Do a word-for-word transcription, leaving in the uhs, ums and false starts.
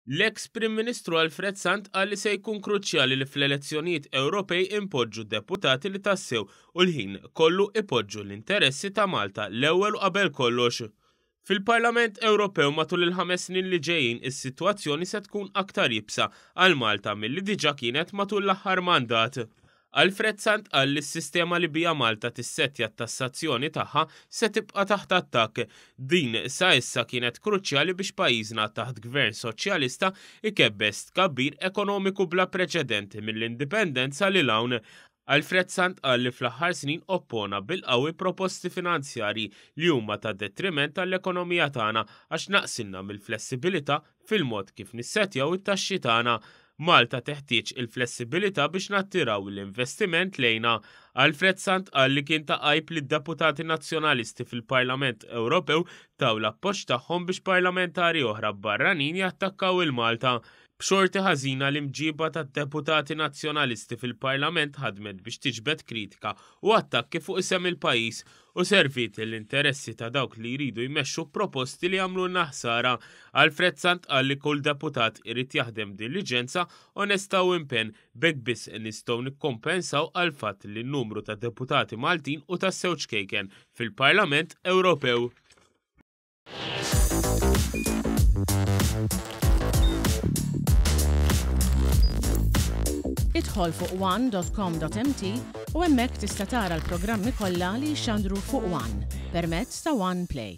L-eks Prim Ministru Alfred Sant qal li se jkun kruċjali li fl-elezzjonijiet Ewropej impoġġu deputati li tassew u l-ħin kollu ipoġġu l-interessi ta' Malta l-ewwel u qabel kollox. Fil-Parlament Ewropew matul il-ħames snin li ġejjin, is-sitwazzjoni se tkun aktar iebsa għal Malta milli diġà kienet matul l-aħħar mandat. Alfred Sant qal li s-sistema li bija Malta tissettja t-tassazzjoni tagħha se tibqa' taħt attakk. Din sa issa kienet kruċjali biex pajjiżna taħt gvern soċjalista ikebbes tkabbir ekonomiku bla preċedenti mill-indipendenza lil hawn. Alfred Sant qal li fl-aħħar snin oppona bil-qawwi proposti finanzjarji li huma ta' detriment għall-ekonomija tagħna għax naqsilna mill-flessibilità fil-mod kif nissettjaw it-taxxi tagħna. Malta teħtieġ il-flessibilità biex nattiraw l-investiment lejna. Alfred Sant qal li kien ta' għajb li d-deputati nazzjonalisti fil-Parlament Ewropew taw l-appoġġ tagħhom biex parlamentari oħra barranin jattakkaw il-Malta. B'xorti ħażina, l-imġiba tad-deputati nazzjonalisti fil-Parlament ħadmet biex tiġbed kritika u attakki fuq isem il-pajjiż u servit l-interessi ta' dawk li jridu jmexxu proposti li jagħmlu ħsara. Alfred Sant qal li kull deputat irid jaħdem diligenza, onesta u impenn. B'hekk biss nistgħu nikkompensaw għal fatt li n-numru ta' deputati Maltin hu tassew ċkejken fil-Parlament Ewropew. Idħol fuq one dot com dot M T u hemmhekk tista' tara l-programmi kollha li jixxandru fuq One permezz ta' One Play.